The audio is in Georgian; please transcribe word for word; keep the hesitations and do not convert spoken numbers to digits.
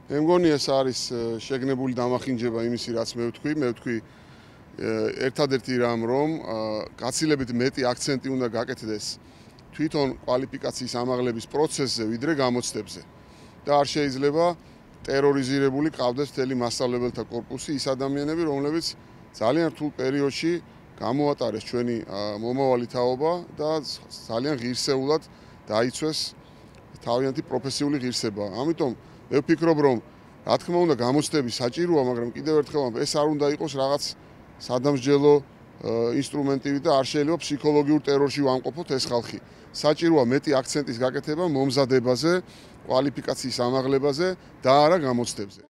მე მგონი ეს არის შეგნებული დამახინჯება იმისი, რაც მე ვთქვი, მე ვთქვი ერთადერთი რამ, რომ გაცილებით მეტი აქცენტი უნდა გაკეთდეს თვითონ კვალიფიკაციის ამაღლების პროცესზე, ვიდრე გამოცდებზე. და არ შეიძლება ტერორიზირებული ყავდეს მთელი მასწავლებელთა კორპუსი, ის ადამიანები, რომლებიც ძალიან რთულ პერიოდში გამოატარეს ჩვენი მომავალი თაობა და ძალიან ღირსეულად დაიცვეს თავიანთი პროფესიული ღირსება. ამიტომ მე ვფიქრობ, რომ რა თქმა უნდა გამოცდები საჭიროა, მაგრამ კიდევ ერთხელ ეს არ უნდა იყოს რაღაც სადამსჯელო ინსტრუმენტივი და არ შეიძლება ფსიქოლოგიურ ტერორში ვამყოფოთ ეს ხალხი. საჭიროა მეტი აქცენტის გაკეთება მომზადებაზე, კვალიფიკაციის ამაღლებაზე და არა გამოცდებაზე.